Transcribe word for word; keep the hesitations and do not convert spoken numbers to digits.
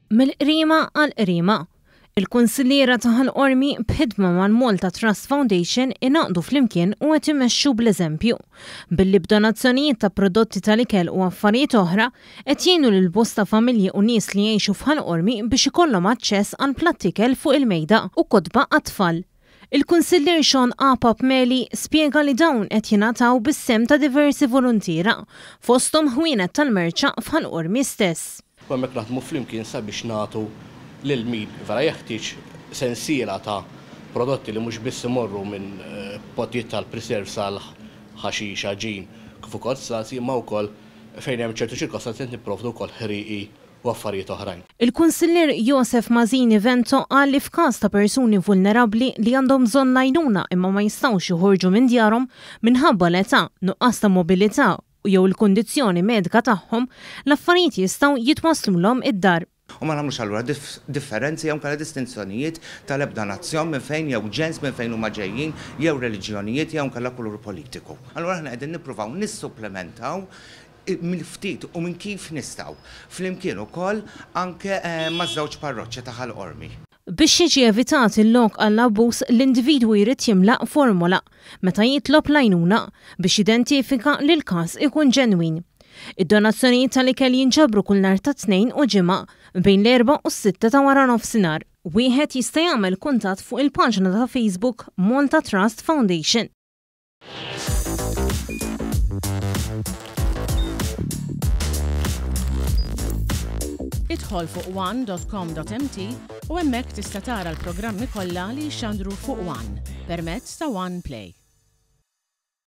Mill-qrima għall-qrima. Il-kunsilliera ta' Ħal Qormi b'ħidma mal-Malta Trust Foundation ingħaqdu flimkien u qed imexxu bl-eżempju. Billi b'donazzjonijiet ta' prodotti tal-ikel u affarijiet oħra qed jgħinu lil bosta familji u nies li jgħixu f'Ħal Qormi biex ikollhom aċċess għal platt ikel fuq il-mejda u kotba għat-tfal. Il-kunsillier Sean Apap Meli spjega li dawn qed jingħataw bis-sehem ta' diversi voluntiera, fosthom ħwienet tal-merċa f'Ħal Qormi stess. U hemmhekk naħdmu flimkien sabiex nagħtu lil min vera jeħtieġ sensiela ta' prodotti li mhux biss imorru minn pottijiet tal-preserve sal ħaxix, għaġin, kif ukoll zlazi, imma wkoll fejn hemm ċertu ċirkostanzi qed nipprovdu wkoll ħrieqi u affarijiet oħrajn. Il-kunsillier Josef Mazzini Vento qal li f'każ ta' persuni vulnerabbli li għandhom bżonn l-għajnuna imma ma jistgħux joħorġu minn djarhom minħabba l-età, nuqqas ta' mobilità jew il-kundizzjoni medika tagħhom, l-affarijiet jistgħu jitwasslulhom id-dar. U ma nagħmlux allura differenzi jew inkella distinzjonijiet tal-ebda nazzjon minn fejn jew ġens minn fejn huma ġejjin, jew reliġjonijiet jew inkella kulur politiku. Allura aħna qegħdin nippruvaw nissupplementaw mill-ftit u minn kif nistgħu. Flimkien ukoll anke maż-żewġ parroċċi ta' Ħal Qormi. Biex jiġi evitat il-lok għall-abbuż, l-individwu jrid jimla formola meta jitlob l-għajnuna biex jidentifika li l-każ ikun ġenwin. Id-donazzjonijiet tal-ikel jinġabru kull nhar ta' Tnejn u Ġimgħa bejn l-erba' u s-sitta ta' wara nofsinhar. Wieħed jista' jagħmel kuntatt fuq il-paġna ta' Facebook Malta Trust Foundation. Idħol fuq one dot com dot m t u hemmhekk tista' tara l-programmi kollha li jixxandru fuq One permezz ta' One Play.